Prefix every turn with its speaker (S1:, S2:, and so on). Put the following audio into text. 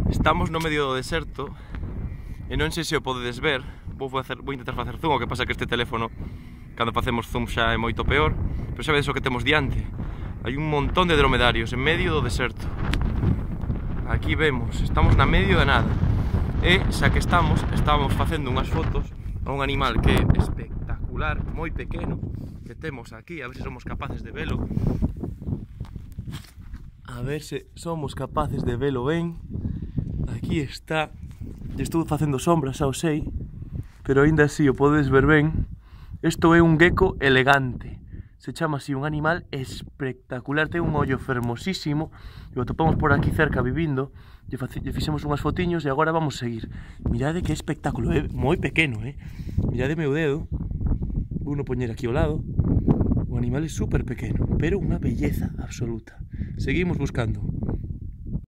S1: Estamos no medio do deserto e non sei se o podedes ver. Vou intentar facer zoom, o que pasa que este teléfono cando facemos zoom xa é moito peor. Pero xa vedes o que temos diante. Hai un montón de dromedarios en medio do deserto. Aquí vemos, estamos na medio de nada. E xa que estábamos facendo unhas fotos a un animal que é espectacular, moi pequeno, que temos aquí, a ver se somos capaces de velo. A ver se somos capaces de velo ben. Aquí está. Estou facendo sombras, xa o sei, pero aínda así o podes ver ben. Isto é un gecko elegante. Se chama así, un animal espectacular, ten un ollo fermosísimo, e o topamos por aquí cerca vivindo, lle fixemos unhas fotiños e agora vamos seguir. Mirade que espectáculo, é moi pequeno, mirade meu dedo, vou no poñer aquí ao lado. O animal é super pequeno, pero unha belleza absoluta. Seguimos buscando.